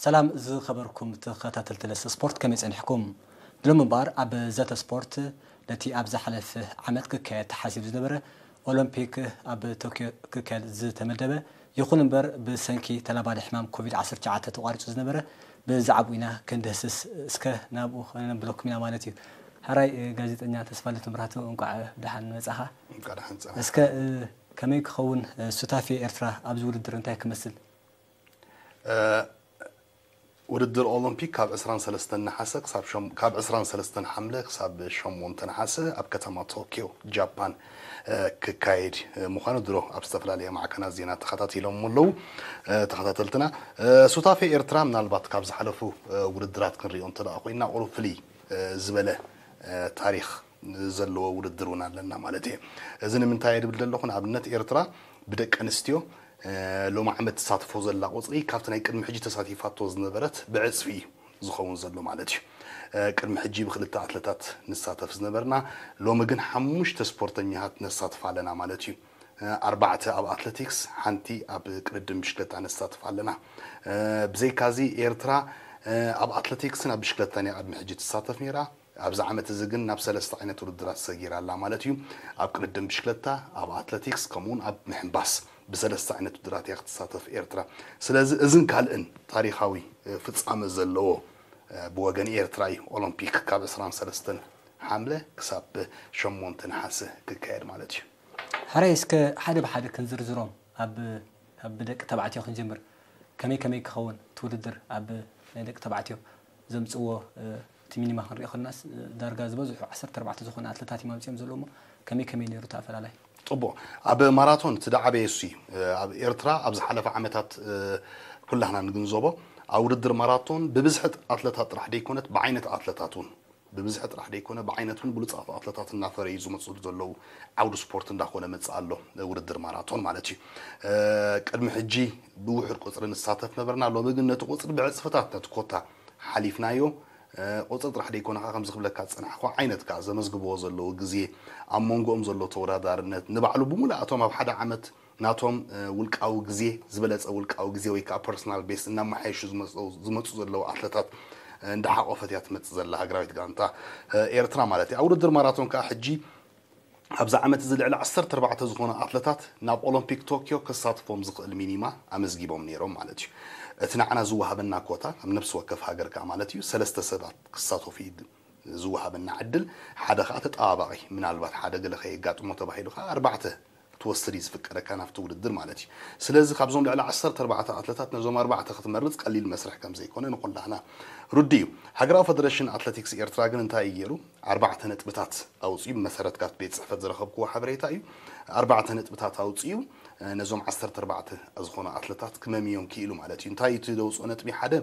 ሰላም ዝኸበርኩም ተኸታተልቲ ለሰ ስፖርት፣ ከመይ ጸኒሕኩም? ብሎም እምበኣር ኣብ ዘተ ስፖርት ነቲ ኣብ ዝሓለፈ ዓመት ክካየድ ተሓሲቡ ዝነበረ ኦሎምፒክ ኣብ ቶክዮ ክካየድ ዝተመደበ፣ ይኹን እምበር ብሰንኪ ተላባዲ ሕማም ኮቪድ ዓሰርተ ትሽዓተ ተቋሪጹ ዝነበረ ብዛዕባኡ ኢና ክንድህስስ እስከ ናብኡ ነብለኩም ኢና ማለት እዩ። ሕራይ ጋዜጠኛ ተስፋለት መብራህቱ፣ እንቋዕ ደሓን መጻኻ። እንቋዕ ደሓን ጸናሕካ። እስከ ከመይ ክኸውን ሱታፌ ኤርትራ ኣብዚ ውድድር እንታይ ክመስል? ውድድር ኦሎምፒክ ካብ ዕስራን ሰለስተን ነሓሰ ክሳብ ሸም- ካብ ዕስራን ሰለስተን ሓምለ ክሳብ ሸሞንተ ነሓሰ ኣብ ከተማ ቶኪዮ ጃፓን ክካየድ ምዃኑ ድሮ ኣብ ዝተፈላለየ ማዕከናት ዜና ተኸታቲሎም ኣለዉ ተኸታተልትና። ሱታፌ ኤርትራ ምናልባት ካብ ዝሓለፉ ውድድራት ክንሪኦ እንተ ደኣ ኮይና ቁሩብ ፍልይ ዝበለ ታሪኽ ዘለዎ ውድድር እውን ኣለና ማለት እየ። እዚ ንምንታይ እየ ድብል ዘለኹ? ንኣብነት ኤርትራ ብደቂ ኣንስትዮ ሎሚ ዓመት ትሳትፎ ዘላ ቁፅሪ ካብቲ ናይ ቅድሚ ሕጂ ተሳቲፋቶ ዝነበረት ብዕፅፊ እዩ ዝኸውን ዘሎ ማለት እዩ። ቅድሚ ሕጂ ብክልተ ኣትለታት ንሳተፍ ዝነበርና፣ ሎሚ ግን ሓሙሽተ ስፖርተኛታት ነሳትፍ ኣለና ማለት እዩ። ኣርባዕተ ኣብ ኣትለቲክስ፣ ሓንቲ ኣብ ቅድድም ብሽክለታ ነሳትፍ ኣለና። ብዘይካዚ ኤርትራ ኣብ ኣትለቲክስን ኣብ ብሽክለታን እያ ቅድሚ ሕጂ ትሳተፍ ነይራ። ኣብዚ ዓመት እዚ ግን ናብ ሰለስተ ዓይነት ውድድራት ሰጊራ ኣላ ማለት እዩ። ኣብ ቅድድም ብሽክለታ፣ ኣብ ኣትለቲክስ ከምኡውን ኣብ ምሕንባስ ብሰለስተ ዓይነት ውድድራት እያ ክትሳተፍ ኤርትራ። ስለዚ እዝን ካልእን ታሪኻዊ ፍጻመ ዘለዎ ብወገን ኤርትራ እዩ። ኦሎምፒክ ካብ ዕስራን ሰለስተን ሓምለ ክሳብ ሸሞንተ ነሓሰ ክካየድ ማለት እዩ። ሕራይ እስከ ሓደ ብሓደ ክንዝርዝሮም ኣብ ኣብ ደቂ ተባዕትዮ ክንጀምር ከመይ ከመይ ክኸውን እቲ ውድድር ኣብ ናይ ደቂ ተባዕትዮ ዘምፅዎ እቲ ሚኒማ ክንሪኦ ከለናስ ዳርጋ ዝበዝሑ ዓሰርተ ኣርባዕተ ዝኾኑ ኣትለታት እዮም ኣምፅኦም ዘለዉ እሞ ከመይ ከመይ ነይሩ እቲ ኣፈላላይ? ፅቡቕ። ኣብ ማራቶን እቲ ዝዓበየ እሱ እዩ። ኣብ ኤርትራ ኣብ ዝሓለፈ ዓመታት ኩላህና ንግንዘቦ ኣብ ውድድር ማራቶን ብብዝሒ ኣትለታት ጥራሕ ደይኮነት ብዓይነት ኣትለታት እውን ብብዝሒ ጥራሕ ደይኮነ ብዓይነቱን ብሉፃት ኣትለታት እናፈረዩ ዝመፁ ዘለዉ ዓውዲ ስፖርት እንዳኾነ መፅእ ኣሎ ውድድር ማራቶን ማለት እዩ። ቅድሚ ሕጂ ብውሑድ ቁፅሪ ንሳተፍ ነበርና። ሎሚ ግን ነቲ ቁፅሪ ብዕፅፍታት ነቲ ኮታ ሓሊፍናዮ። ቁፅሪ ጥራሕ ደይኮነ ከዓ ከምዚ ክብለካ ዝፀናሕኮ ዓይነት ከዓ ዘመዝግብዎ ዘለዉ ግዜ ኣብ መንጎኦም ዘሎ ተወዳዳርነት ንባዕሉ ብምሉእ እቶም ኣብ ሓደ ዓመት ናቶም ውልቃዊ ግዜ ዝበለፀ ውልቃዊ ግዜ ወይ ከዓ ፐርሶናል ቤስት እናመሓየሹ ዝመፁ ዘለዉ ኣትለታት እንዳሓቆፈት እያ ትመፅእ ዘላ ሃገራዊት ጋንታ ኤርትራ ማለት እዩ። ኣብ ውድድር ማራቶን ከዓ ሕጂ ኣብዚ ዓመት እዚ ልዕሊ ዓሰርተ ኣርባዕተ ዝኾኑ ኣትለታት ናብ ኦሎምፒክ ቶኪዮ ከሳትፎም ዝኽእል ሚኒማ ኣመዝጊቦም ነይሮም ማለት እዩ። እቲ ንዓና ዝወሃበና ኮታ ኣብ ነብሲ ወከፍ ሃገር ከዓ ማለት እዩ ሰለስተ ሰባት ክሳተፉ እዩ ዝወሃበና ዕድል። ሓደ ከዓ ተጠባባቒ ምናልባት ሓደ ገለ ከየጋጥሞ ተባሂሉ ከዓ ኣርባዕተ ክትወስድ እዩ ዝፍቀደካ ናብቲ ውድድር ማለት እዩ። ስለዚ ካብዞም ልዕሊ ዓሰርተ ኣርባዕተ ኣትለታት ነዞም ኣርባዕተ ክትመርፅ ቀሊል መስርሕ ከም ዘይኮነ ንኩላህና ርዱእ እዩ። ሃገራዊ ፈደረሽን ኣትለቲክስ ኤርትራ ግን እንታይ እዩ ገይሩ? ኣርባዕተ ነጥብታት ኣውፅኡ። ብመሰረት ካብ ቤት ፅሕፈት ዝረኸብክዎ ሓበሬታ እዩ። ኣርባዕተ ነጥብታት ኣውፅኡ ነዞም ዓሰርተ ኣርባዕተ ዝኾኑ ኣትለታት ክመምዮም ክኢሉ ማለት እዩ። እንታይ እቲ ዘውፅኦ ነጥቢ ሓደ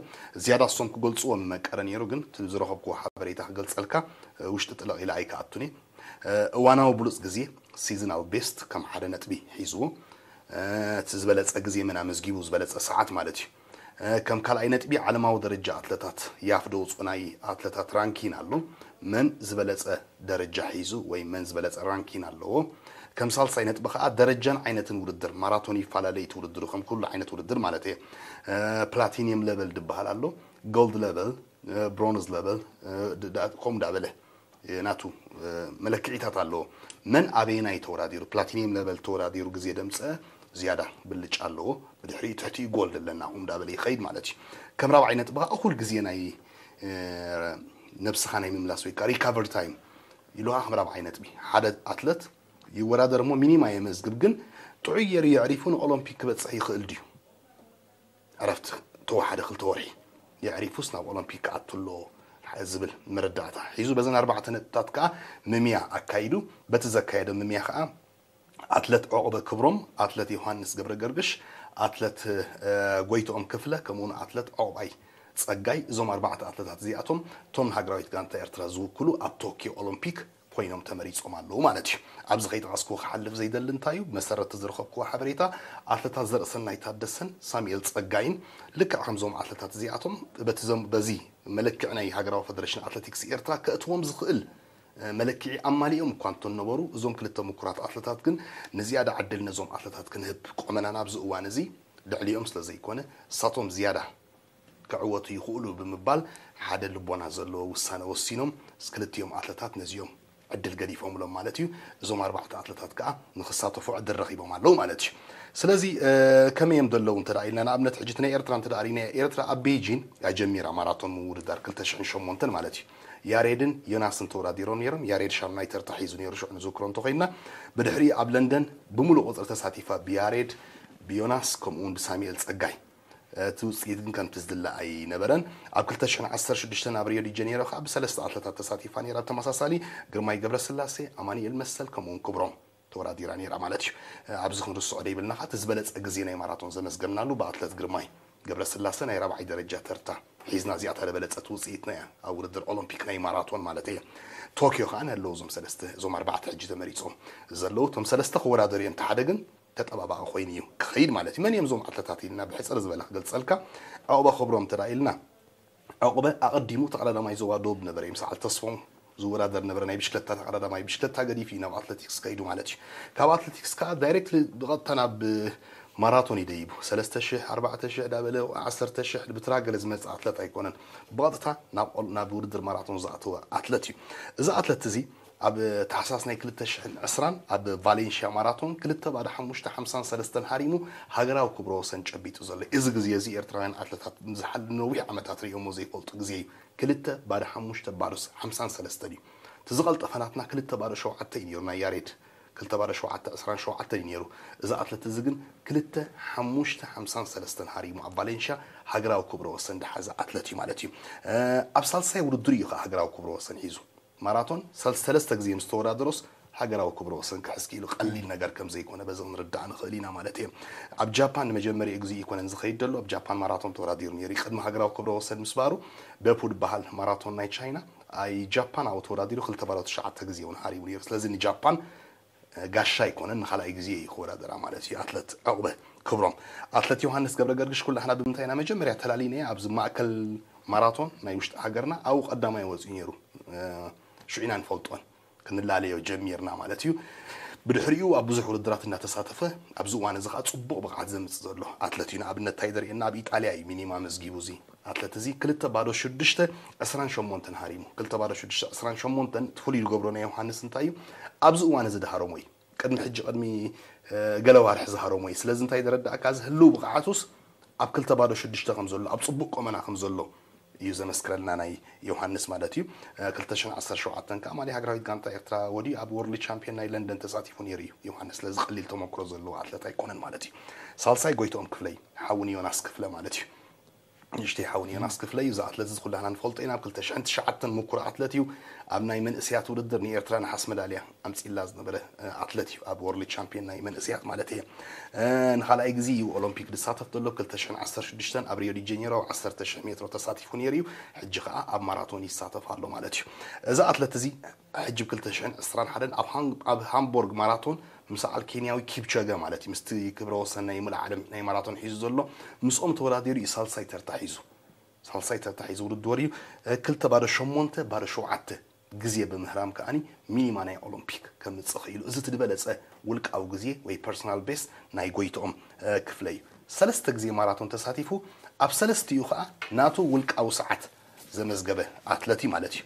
ዝያዳ እሶም ክገልፅዎ ምመቀረ ነይሩ፣ ግን እቲ ዝረኸብክዎ ሓበሬታ ክገልፀልካ ውሽጢ ጥለቕ ኢለ ኣይከኣቱን እየ። እዋናዊ ብሉፅ ግዜ ሲዝናል ቤስት ከም ሓደ ነጥቢ ሒዝዎ። እቲ ዝበለፀ ግዜ መን ኣመዝጊቡ ዝበለፀ ሰዓት ማለት እዩ። ከም ካልኣይ ነጥቢ ዓለማዊ ደረጃ ኣትለታት ያፍ ደውፅኦ ናይ ኣትለታት ራንኪን ኣሎ። መን ዝበለፀ ደረጃ ሒዙ ወይ መን ዝበለፀ ራንኪን ኣለዎ። ከም ሳልሳይ ነጥቢ ከዓ ደረጃን ዓይነትን ውድድር ማራቶን ይፈላለ እቲ ውድድሩ ከም ኩሉ ዓይነት ውድድር ማለት እየ። ፕላቲኒየም ለቨል ዝበሃል ኣሎ፣ ጎልድ ለቨል፣ ብሮንዝ ለቨል ከምኡ እንዳበለ ናቱ መለክዒታት ኣለዎ። መን ኣበየናይ ተወዳዲሩ ፕላቲኒየም ለቨል ተወዳዲሩ ግዜ ደምፀ ዝያዳ ብልጫ ኣለዎ። ብድሕሪኡ ትሕቲኡ ጎልድ ኣለና ከምኡ እንዳበለ ይኸይድ ማለት እዩ። ከም ራብዓይ ነጥቢ ከዓ እኹል ግዜ ናይ ነብስኻ ናይ ምምላስ ወይ ከዓ ሪካቨሪ ታይም ኢሉ ከዓ ከም ራብዓይ ነጥቢ ሓደ ኣትለት ይወዳደር እሞ ሚኒማ የመዝግብ፣ ግን ጥዑይ ገይሩ የዕሪፉ ንኦሎምፒክ ክበፅሕ ይኽእል ድዩ? ዕረፍቲ ተወሓደ ክልተ ወርሒ የዕሪፉስ ናብ ኦሎምፒክ ክኣቱ ኣሎ ዝብል መረዳእታ ሒዙ በዘን ኣርባዕተ ነጥብታት ከዓ ምምያ ኣካይዱ። በቲ ዘካየደ ምምያ ከዓ ኣትለት ዑቕበ ክብሮም፣ ኣትለት ዮሃንስ ገብረ ገርግሽ፣ ኣትለት ጎይትኦም ክፍለ ከምኡውን ኣትለት ዑቕባይ ፀጋይ እዞም ኣርባዕተ ኣትለታት እዚኣቶም እቶም ንሃገራዊት ጋንታ ኤርትራ ዝውክሉ ኣብ ቶኪዮ ኦሎምፒክ ኮይኖም ተመሪፆም ኣለዉ ማለት እዩ። ኣብዚ ከይጠቐስክዎ ክሓልፍ ዘይደሊ እንታይ እዩ? ብመሰረት ዝረኸብክዎ ሓበሬታ ኣትለታት ዘርእሰናይ ታደሰን ሳሙኤል ፀጋይን ልክዕ ከምዞም ኣትለታት እዚኣቶም በዚ መለክዒ ናይ ሃገራዊ ፈደረሽን ኣትለቲክስ ኤርትራ ከእትዎም ዝኽእል መለክዒ ኣማሊኦም እኳ እንተነበሩ እዞም ክልተ ምኩራት ኣትለታት ግን ንዝያዳ ዕድል ነዞም ኣትለታት ክንህብ ቆመናን ኣብዚ እዋን እዚ ልዕሊኦም ስለ ዘይኮነ እሳቶም ዝያዳ ክዕወቱ ይኽእሉ ብምባል ሓደ ልቦና ዘለዎ ውሳነ ወሲኖም። ክልቲኦም ኣትለታት ነዚኦም ዕድል ገዲፎምሎም ማለት እዩ። እዞም ኣርባዕተ ኣትለታት ከዓ ንክሳተፉ ዕድል ረኺቦም ኣለዉ ማለት እዩ። ስለዚ ከመይ እዮም ዘለዉ እንተ ኢልና፣ ንኣብነት ሕጂ ናይ ኤርትራ እንተ ሪኢና፣ ኤርትራ ኣብ ቤጂን ኣጀሚራ ማራቶን ምውድዳር ክልተ ሽሕን ሸሞንተን ማለት እዩ። ያሬድን ዮናስን ተወዳዲሮም ነይሮም። ያሬድ ሻምናይ ተርታ ሒዙ ነይሩ፣ ሽዑ ንዝክሮ እንተኮይንና። ብድሕሪ ኣብ ለንደን ብምሉእ ቁፅሪ ተሳቲፋ ብያሬድ፣ ብዮናስ፣ ከምኡ እውን ብሳሙኤል ጸጋይ። እቲ ውፅኢት ግን ከምቲ ዝድለ ኣይነበረን። ኣብ ክልተ ሽሕን ዓሰርተ ሽዱሽተን ኣብ ሪዮ ዲ ጀኔሮ ከዓ ብሰለስተ ኣትለታት ተሳቲፋ ነይራ። ብተመሳሳሊ ግርማይ ገብረስላሴ፣ ኣማኑኤል መሰል፣ ከምኡውን ክብሮም ተወዳዲራ ነይራ ማለት እዩ። ኣብዚ ክንርስዖ ደይብልና ከዓ፣ እቲ ዝበለፀ ግዜ ናይ ማራቶን ዘመዝገብናሉ ብኣትለት ግርማይ ገብረስላሴ ናይ ራብዓይ ደረጃ ተርታ ሒዝና፣ እዚኣ እታ ዝበለፀት ውፅኢትና እያ ኣብ ውድድር ኦሎምፒክ ናይ ማራቶን ማለት እየ። ቶኪዮ ከዓ ንህለዉ እዞም ሰለስተ፣ እዞም ኣርባዕተ ሕጂ ተመሪፆም ዘለዉ፣ እቶም ሰለስተ ክወዳደሩ እዮም። እቲ ሓደ ግን ተጠባባቂ ኮይኑ እዩ ክኸይድ ማለት እዩ። መን እዮም እዞም ኣትለታት ኢልና ብሕፅር ዝበለ ክገልፀልካ፣ ዑቕበ ክብሮም እንተ ኢልና፣ ዑቕበ ኣቐዲሙ ተቐዳዳማይ ዞባ ደቡብ ነበረ፣ ምስ በዓል ተስፎም ዝወዳደር ነበረ። ናይ ብሽክለታ ተቐዳዳማይ፣ ብሽክለታ ገዲፉ እዩ ናብ ኣትሌቲክስ ከይዱ ማለት እዩ። ካብ ኣትሌቲክስ ከዓ ዳይሬክት ብቐጥታ ናብ ማራቶን ይደይቡ። ሰለስተ ሽሕ፣ ኣርባዕተ ሽሕ ዳበለ፣ ዓሰርተ ሽሕ ብትራ ገለ ዝመፅእ ኣትለት ኣይኮነን። ብቐጥታ ናብ ኦል-፣ ናብ ውድድር ማራቶን ዝኣተወ ኣትለት እዩ። እዚ ኣትለት እዚ ኣብ ታሕሳስ ናይ ክልተ ሽሕን ዕስራን ኣብ ቫሌንሽያ ማራቶን ክልተ ባዶ ሓሙሽተ ሓምሳን ሰለስተን ሃሪሙ ሃገራዊ ክብረ ወሰን ጨቢጡ ዘሎ። እዚ ግዜ እዚ ኤርትራውያን ኣትለታት ንዝሓል-፣ ንነዊሕ ዓመታት ርእዮሞ ዘይፈልጡ ግዜ እዩ። ክልተ ባዶ ሓሙሽተ ባዶ ሓምሳን ሰለስተን እዩ። እቲ ዝቐልጠፈ ናትና ክልተ ባዶ ሸውዓተ እዩ ነይሩ፣ ናይ ያሬድ ክልተ ባዶ ሸውዓተ ዕስራን ሸውዓተን እዩ ነይሩ። እዚ ኣትለት እዚ ግን ክልተ ሓሙሽተ ሓምሳን ሰለስተን ሃሪሙ ኣብ ቫሌንሽያ ሃገራዊ ክብረ ወሰን ዝሓዘ ኣትለት እዩ ማለት እዩ። እ፣ ኣብ ሳልሳይ ውድድር እዩ ከዓ ሃገራዊ ክብረ ወሰን ሒዙ። ማራቶን ሰል-፣ ሰለስተ ግዜ ምስ ተወዳደሮስ ሃገራዊ ክብረ ወሰን ክሕዝ ክኢሉ ቀሊል ነገር ከም ዘይኮነ በዚ ክንርዳእ ንኽእል ኢና ማለት እየ። ኣብ ጃፓን ንመጀመሪኡ ግዜ ይኮነን ዝኸይድ ዘሎ፣ ኣብ ጃፓን ማራቶን ተወዳዲሩ ነይሩ። ቅድሚ ሃገራዊ ክብረ ወሰን ምስባሩ፣ በፑ ዝበሃል ማራቶን ናይ ቻይና፣ ኣይ ጃፓን ኣብኡ ተወዳዲሩ ክልተ ባዶ ትሽዓተ ግዜ እውን ሃሪሙ ነይሩ። ስለዚ ንጃፓን ጋሻ ኣይኮነን፣ ንኻልኣይ ግዜ እዩ ክወዳደራ ማለት እዩ። ኣትለት ዕቑበ ክብሮም፣ ኣትለት ዮሃንስ ገብረ ገርግሽ ኩላህና ብምንታይ ኢና መጀመርያ ተላሊና ኣብዚ ማእከል ማራቶን ናይ ውሽጢ ሃገርና ኣብኡ ቀዳማይ ወፂኡ ነይሩ። እ፣ ሽዑ ኢና ንፈልጦን ክንላለዮ ጀሚርና ማለት እዩ። ብድሕሪኡ ኣብ ብዙሕ ውድድራት እናተሳተፈ ኣብዚ እዋን እዚ ከዓ ፅቡቕ ብቕዓት ዘምፅእ ዘሎ ኣትለት እዩ። ንኣብነት እንታይ ዘርእየና፣ ኣብ ኢጣልያ እዩ ሚኒማ መዝጊቡ እዚ ኣትለት እዚ ክልተ ባዶ ሽዱሽተ ዕስራን ሸሞንተን ሃሪሙ። ክልተ ባዶ ሽዱሽተ ዕስራን ሸሞንተን እቲ ፍሉይ ዝገብሮ ናይ ዮሃንስ እንታይ እዩ? ኣብዚ እዋን እዚ ድሃረሞ እዩ። ቅድሚ ሕጂ፣ ቅድሚ፣ እ፣ ገለ ዋርሒ ዝሃረሞ እዩ። ስለዚ እንታይ ዘረዳእካ፣ እዚ ህልው ብቕዓቱስ ኣብ ክልተ ባዶ ሽዱሽተ ከም ዘሎ፣ ኣብ ጽቡቕ ቆመና ከም ዘሎ እዩ ዘመስክረልና ናይ ዮሃንስ ማለት እዩ። እ፣ ክልተ ሽሕን ዓሰርተ ሸውዓተን ከኣ ማሊ ሃገራዊት ጋንታ ኤርትራ ወዲ ኣብ ወርልድ ቻምፒዮን ናይ ለንደን ተሳቲፉ ነይሩ እዩ ዮሃንስ። ስለዚ ቀሊል ተመክሮ ዘለዎ ኣትለት ኣይኮነን ማለት እዩ። ሳልሳይ ጎይትኦም ክፍለይ፣ ሓውን ዮናስ ክፍለ ማለት እዩ። ንእሽተይ ሓውን ዮናስ ክፍለ እዩ። እዚ ኣትለት እዚ ኩላህና ንፈልጦ ኢና። ኣብ ክልተ ሽሕን ትሽዓተን ምኩር ኣትለት እዩ። ኣብ ናይ መንእሰያት ውድድር ንኤርትራ ነሓስ መዳልያ ኣምጺእላ ዝነበረ፣ እ፣ ኣትለት እዩ። ኣብ ወርልድ ቻምፒዮን ናይ መንእሰያት ማለት እየ። እ፣ ንኻልኣይ ግዜ እዩ ኦሎምፒክ ዝሳተፍ ዘሎ። ክልተ ሽሕን ዓሰርተ ሽዱሽተን ኣብ ሪዮ ዲ ጀኔሮ ኣብ ዓሰርተ ሽሕ ሜትሮ ተሳቲፉ ነይሩ እዩ። ሕጂ ኸኣ ኣብ ማራቶን ይሳተፍ ኣሎ ማለት እዩ። እዚ ኣትለት እዚ ሕጂ ብ ክልተ ሽሕን ዕስራን ሓደን ኣብ ሃም-፣ ኣብ ሃምቦርግ ማራቶን ምስ በዓል ኬንያዊ ኪፕቾገ ማለት እዩ፣ ምስቲ ክብረ ወሰን ናይ ሙሉእ ዓለም ናይ ማራቶን ሒዙ ዘሎ፣ ምስኦም ተወዳዲሩ እዩ ሳልሳይ ተርታ ሒዙ። ሳልሳይ ተርታ ሒዙ ውድድር እዩ። እ፣ ክልተ ባዶ ሸሞንተ ባዶ ሸውዓተ ግዜ ብምህራም ከኣኒ ሚኒማ ናይ ኦሎምፒክ ከምጽእ ክኢሉ። እዚ እቲ ዝበለጸ ውልቃዊ ግዜ ወይ ፐርሰናል ቤስት ናይ ጎይትኦም፣ እ፣ ክፍለ እዩ። ሰለስተ ግዜ ማራቶን ተሳቲፉ፣ ኣብ ሰለስቲኡ ከኣ ናቱ ውልቃዊ ሰዓት ዘመዝገበ ኣትለት እዩ ማለት እዩ።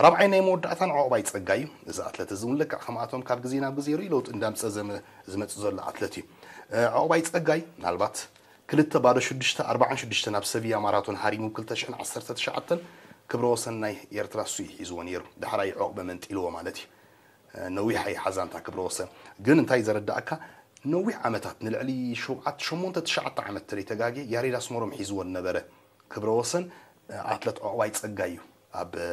ራብዓይ ናይ መወዳእታን ዑቕባይ ጸጋይ እዩ። እዚ ኣትለት እዚ እውን ልክዕ ከምኣቶም ካብ ግዜ ናብ ግዜ ርእዩ ለውጢ እንዳምጸ ዘመ-፣ ዝመጽእ ዘሎ ኣትለት እዩ። እ፣ ዑቕባይ ጸጋይ ምናልባት ክልተ ባዶ ሽዱሽተ ኣርባዓን ሽዱሽተ ናብ ሰቪያ ማራቶን ሃሪሙ ክልተ ሽሕን ዓሰርተ ትሽዓተን ክብረ ወሰን ናይ ኤርትራ እሱ እዩ ሒዝዎ ነይሩ። ዳሕራይ ዑቕበ መንጢልዎ ማለት እዩ። እ፣ ነዊሕ ኣይሓዛን እታ ክብረ ወሰን። ግን እንታይ ዘረዳእካ፣ ነዊሕ ዓመታት ንልዕሊ ሸውዓተ፣ ሸሞንተ፣ ትሽዓተ ዓመት ተለይ ተጋጌ ያሬድ ኣስመሮም ሒዝዎ ነበረ። ክብረ ወሰን፣ እ፣ ኣትለት ዑቕባይ ጸጋይ እዩ። ኣብ፣ እ፣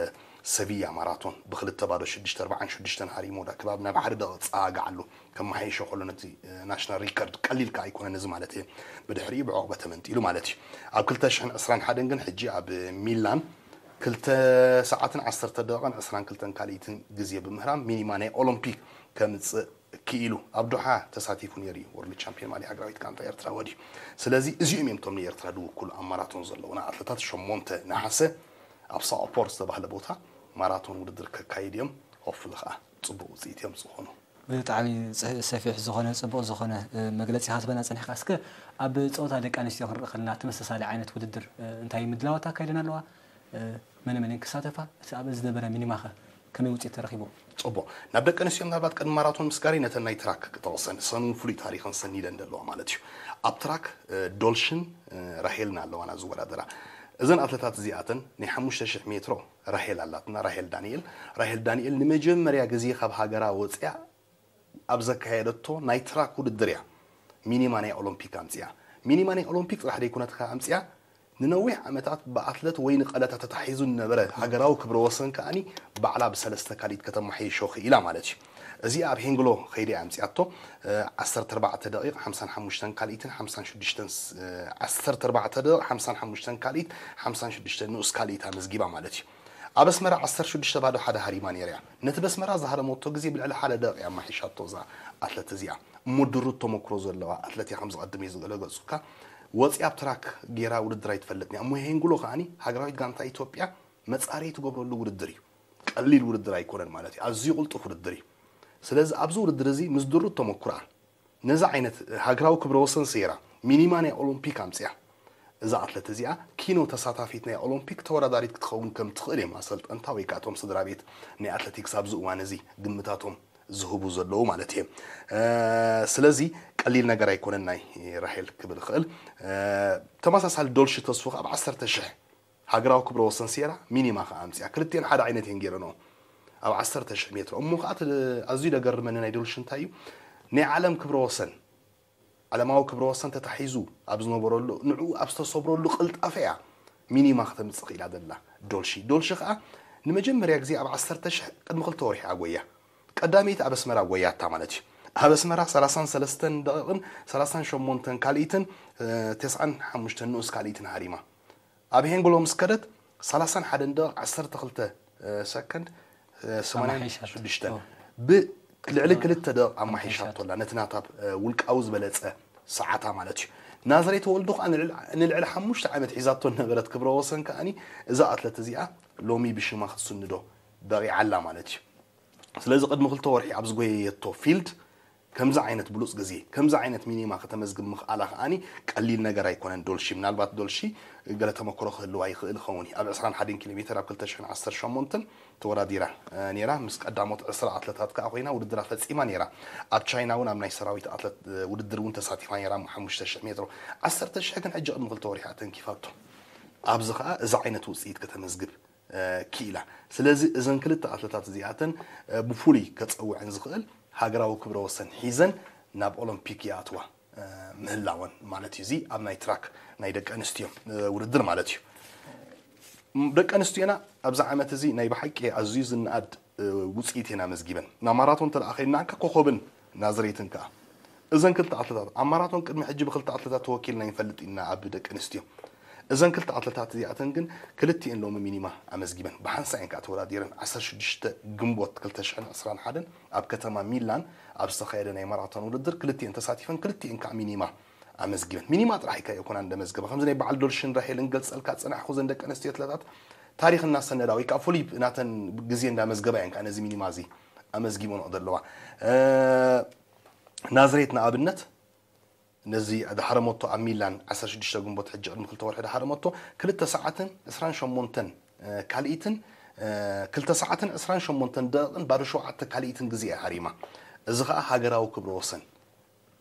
ሰቪያ ማራቶን ብክልተ ባዶ ሽዱሽተ ኣርባዓን ሽዱሽተን ሃሪሙ ወዳ ክባብ ናብ ሓደ ደቂቕ ጸጋጋዕ ኣሎ። ከመሓየሾ ከሎ ነቲ፣ እ፣ ናሽናል ሪከርድ ቀሊል ከኣ ኣይኮነን እዚ ማለት እየ። ብድሕሪኡ ብዑቕበ ተመንጢሉ ማለት እዩ። ኣብ ክልተ ሽሕን ዕስራን ሓደን ግን ሕጂ ኣብ ሚላን ክልተ ሰዓትን ዓሰርተ ደቂቕን ዕስራን ክልተን ካልኢትን ግዜ ብምህራም ሚኒማ ናይ ኦሎምፒክ ከምጽእ ክኢሉ ኣብ ዶሓ ተሳቲፉ ነይሩ እዩ። ወርልድ ቻምፒዮን ማሊ ሃገራዊት ጋንታ ኤርትራ ወዲ። ስለዚ እዚኦም እዮም እቶም ንኤርትራ ዝውክሉ ኣብ ማራቶን ዘለዉና ኣትለታት። ሸሞንተ ነሓሰ ኣብ ሳኦፖር ዝተባህለ ቦታ ማራቶን ውድድር ከካይድ እዮም። ሆፍሊ ከዓ ጽቡቕ ውፅኢት እዮም ዝኾኑ። ብጣዕሚ ሰፊሕ ዝኾነ ጽቡቕ ዝኾነ መግለጺ ክትበና ጸኒሕካ። እስከ ኣብ ጸወታ ደቂ ኣንስትዮ ክንርኢ ከለና ተመሳሳሊ ዓይነት ውድድር እንታይ ምድላዋት ኣካይደን ኣለዋ? መን መን ክሳተፋ? እቲ ኣብ ዝነበረ ሚኒማኸ ከመይ ውፅኢት ተረኺቡ? ጽቡቕ። ናብ ደቂ ኣንስትዮ ምናልባት ቅድሚ ማራቶን ምስጋሪ ነተን ናይ ትራክ ክጠቕሰን ሰኑ ፍሉይ ታሪኽን ሰኒደን ዘለዋ ማለት እዩ። ኣብ ትራክ ዶልሽን ራሄልን ኣለዋና ዝወዳደራ። እዘን ኣትለታት እዚኣተን ናይ ሓሙሽተ ሽሕ ሜትሮ ራሄል ኣላትና፣ ራሄል ዳንኤል። ራሄል ዳንኤል ንመጀመርያ ግዜ ካብ ሃገራ ወፅያ ኣብ ዘካየደቶ ናይ ትራክ ውድድር እያ ሚኒማ ናይ ኦሎምፒክ ኣምፅኣ። ሚኒማ ናይ ኦሎምፒክ ጥራሕ ዘይኮነት ከኣ ኣምፅኣ፣ ንነዊሕ ዓመታት ብኣትለት ወይኒ ቀለታ ተታሒዙ ዝነበረ ሃገራዊ ክብረ ወሰን ከኣኒ ባዕላ ብሰለስተ ካልኢት ከተማሓይሾ ክኢላ ማለት እዩ። እዚኣ ኣብ ሄንግሎ ከይደ ኣምፅኣቶ። ዓሰርተ ኣርባዕተ ደቂቕ ሓምሳን ሓሙሽተን ካልኢትን ሓምሳን ሽዱሽተን ዓሰርተ ኣርባዕተ ደቂቕ ሓምሳን ሓሙሽተን ካልኢት ሓምሳን ሽዱሽተ ንኡስ ካልኢት ኣመዝጊባ ማለት እዩ። ኣብ ኣስመራ ዓሰርተ ሽዱሽተ ባዶ ሓደ ሃሪማ ነይራ እያ። ነቲ በስመራ ዝሃረመቶ ግዜ ብልዕሊ ሓደ ደቂቕ ኣማሒሻቶ እዛ ኣትለት እዚኣ። እሞ ድሩት ተመክሮ ዘለዋ ኣትለት እያ፣ ከም ዝቐድም እየ ዝገለገጽኩካ። ወፂኣ ኣብ ትራክ ጌራ ውድድር ኣይትፈልጥን እያ። እሞ ሄንጉሎ ከኣኒ ሃገራዊት ጋንታ ኢትዮጵያ መጻረይ ትገብረሉ ውድድር እዩ። ቀሊል ውድድር ኣይኮነን ማለት እዩ። ኣዝዩ ቅልጡፍ ውድድር እዩ። ስለዚ ኣብዚ ውድድር እዚ ምስ ድሩት ተመክሮኣ ነዚ ዓይነት ሃገራዊ ክብረ ወሰን ሰይራ ሚኒማ ናይ ኦሎምፒክ ኣምፅኣ። እዛ ኣትለት እዚኣ ኪኖ ተሳታፊት ናይ ኦሎምፒክ ተወዳዳሪት ክትኸውን ከም ትኽእል እዮም ኣሰልጠንታ ወይ ከዓ እቶም ስድራ ቤት ናይ ኣትሌቲክስ ኣብዚ እዋን እዚ ግምታቶም ዝህቡ ዘለዉ ማለት እየ። ስለዚ ቀሊል ነገር ኣይኮነን ናይ ራሄል ክብል እኽእል። ተመሳሳሊ ዶልሺ ተስፉ ኣብ ዓሰርተ ሽሕ ሃገራዊ ክብረ ወሰን ሴራ ሚኒማ ከኣ ኣምፅኣ። ክልቲኤን ሓደ ዓይነት እየን ገይረንኦ ኣብ ዓሰርተ ሽሕ ሜትሮ። እሞ ከኣ እቲ ኣዝዩ ደገርመኒ ናይ ዶልሺ እንታይ እዩ? ናይ ዓለም ክብረ ወሰን፣ ዓለማዊ ክብረ ወሰን ተታሒዙ ኣብ ዝነበረሉ፣ ንዕኡ ኣብ ዝተሰብረሉ ቅልጣፈ እያ ሚኒማ ከተምፅእ ክኢላ ዘላ ዶልሺ። ዶልሺ ከኣ ንመጀመርያ ግዜ ኣብ ዓሰርተ ሽሕ ቅድሚ ክልተ ወርሒ ኣጎያ። ቀዳመይቲ ኣብ ኣስመራ ጎያታ ማለት እዩ። ኣብ ኣስመራ ሰላሳን ሰለስተን ደቂቕን ሰላሳን ሸሞንተን ካልኢትን፣ እ፣ ተስዓን ሓሙሽተን ንኡስ ካልኢትን ሃሪማ። ኣብ ሄንግሎ ምስ ከደት ሰላሳን ሓደን ደቂቕ ዓሰርተ ክልተ ሰከንድ፣ ሰማንያን ሽዱሽተን ኣማሒሻቶ። ብልዕሊ ክልተ ደቂቕ ኣማሒሻቶ ኣላ። ነቲ ናታ ውልቃዊ ዝበለጸ ሰዓታ ማለት እዩ። ናዝሬት ወልዱ ከኣ ንልዕሊ ሓሙሽተ ዓመት ሒዛቶ ነበረት ክብረ ወሰን ከኣኒ እዛ ኣትለት እዚኣ ሎሚ ብሽማ ክትስንዶ በቒዓ ኣላ ማለት እዩ። ስለዚ ቅድሚ ክልተ ወርሒ ኣብ ዝጎየየቶ ፊልድ ከምዚ ዓይነት ብሉጽ ግዜ፣ ከምዚ ዓይነት ሚኒማ ከተመዝግብ ምኽኣላ ከኣኒ ቀሊል ነገር ኣይኮነን። ዶልሺ፣ ምናልባት ዶልሺ ገለ ተመክሮ ክህልዋ ይኽእል ይኸውን እዩ። ኣብ ዕስራን ሓደን ኪሎ ሜትር ኣብ ክልተ ሽሕን ዓሰርተ ሸሞንተን ተወዳዲራ፣ እ፣ ነይራ። ምስ ቀዳሞት ዕስራ ኣትለታት ከኣ ኮይና ውድድራ ፈጺማ ነይራ። ኣብ ቻይና እውን ኣብ ናይ ሰራዊት ኣትለት፣ እ፣ ውድድር እውን ተሳቲፋ ነይራ፣ ሓሙሽተ ሽሕ ሜትሮ። ዓሰርተ ሽሕ ግን ሕጂ ቅድሚ ክልተ ወርሒ ተንኪፋቶ። ኣብዚ ከኣ እዚ ዓይነት ውጽኢት ከተመዝግብ እ፣ ክኢላ። ስለዚ እዘን ክልተ ኣትለታት እዚኣተን፣ እ፣ ብፍሉይ ከጸውዐን ዝኽእል ሃገራዊ ክብረ ወሰን ሒዘን ናብ ኦሎምፒክ ይኣትዋ፣ እ፣ ምህላወን ማለት እዩ። እዚ ኣብ ናይ ትራክ ናይ ደቂ ኣንስትዮ፣ እ፣ ውድድር ማለት እዩ። ም-፣ ደቂ ኣንስትዮና ኣብዚ ዓመት እዚ ናይ ብሓቂ ኣዝዩ ዝነኣድ፣ እ፣ ውጽኢት እየን ኣመዝጊበን። ናብ ማራቶን እንተ ደኣ ከይድና ከኣ ኮኾብን ናዝሬትን ከኣ እዘን ክልተ ኣትለታት ኣብ ማራቶን ቅድሚ ሕጂ ብክልተ ኣትለታት ተወኪልና ኣይንፈልጥ ኢና ኣብ ደቂ ኣንስትዮ። እዘን ክልተ ኣትለታት እዚኣተን ግን ክልቲኤን ሎሚ ሚኒማ ኣመዝጊበን። ብሓንሳእ እየን ከኣ ተወዳዲረን። ዓሰርተ ሽዱሽተ ግንቦት ክልተ ሽሕን ዕስራን ሓደን ኣብ ከተማ ሚላን ኣብ ዝተኻየደ ናይ ማራቶን ውድድር ክልቲኤን ተሳቲፈን፣ ክልቲኤን ከኣ ሚኒማ ኣመዝጊበን። ሚኒማ ጥራሕ ኣይኮናን ዘመዝገባ። ከምዚ ናይ በዓል ዶልሽን ራሄልን ገልጸልካ ዝጸናሕኩ፣ እዘን ደቂ ኣንስትዮ ኣትለታት ታሪኽ እናሰነዳ ወይ ከኣ ፍሉይ ናተን ግዜ እንዳመዝገባ እየን ከኣ ነዚ ሚኒማ እዚ ኣመዝጊበንኦ ዘለዋ። እ፣ ናዝሬት ንኣብነት ነዚ ዝሃረመቶ ኣብ ሚላን ዓሰርተ ሽዱሽተ ግንቦት ሕጂ ቅድሚ ክልተ ወርሒ ዝሃረመቶ ክልተ ሰዓትን ዕስራን ሸሞንተን ካልኢትን፣ እ፣ ክልተ ሰዓትን ዕስራን ሸሞንተን ደቂቕን ባዶ ሸውዓተ ካልኢትን ግዜ እያ ሃሪማ። እዚ ኸኣ ሃገራዊ ክብረ ወሰን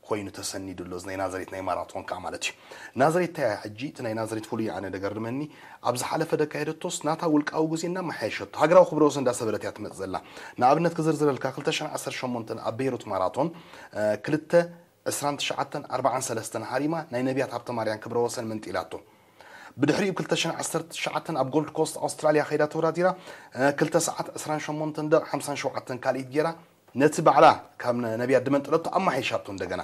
ኮይኑ ተሰኒዱ ኣሎ፣ እዚ ናይ ናዝሬት ናይ ማራቶን ከኣ ማለት እዩ። ናዝሬት እንታይ እያ ሕጂ? እቲ ናይ ናዝሬት ፍሉይ ኣነ ደገርመኒ፣ ኣብ ዝሓለፈ ደካየደቶስ ናታ ውልቃዊ ግዜ እናመሓየሸቶ፣ ሃገራዊ ክብረ ወሰን እንዳሰበረት እያ ትመጽእ ዘላ። ንኣብነት ክዝርዝረልካ፣ ክልተ ሽሕን ዓሰርተ ሸሞንተን ኣብ ቤይሩት ማራቶን፣ እ፣ ክልተ ዕስራን ትሽዓተን ኣርባዓን ሰለስተን ሃሪማ ናይ ነቢያት ሃብተማርያም ክብረ ወሰን መንጢላቶ። ብድሕሪኡ ክልተ ሽሕን ዓሰርተ ትሽዓተን ኣብ ጎልድ ኮስት ኣውስትራልያ ከይዳ ተወዳዲራ፣ እ፣ ክልተ ሰዓት ዕስራን ሸሞንተን ደቂቕ ሓምሳን ሸውዓተን ካልኢት ጌራ፣ ነቲ ባዕላ ካብ ነ-፣ ነቢያት ድመንጠለቶ ኣማሓይሻቶ እንደገና።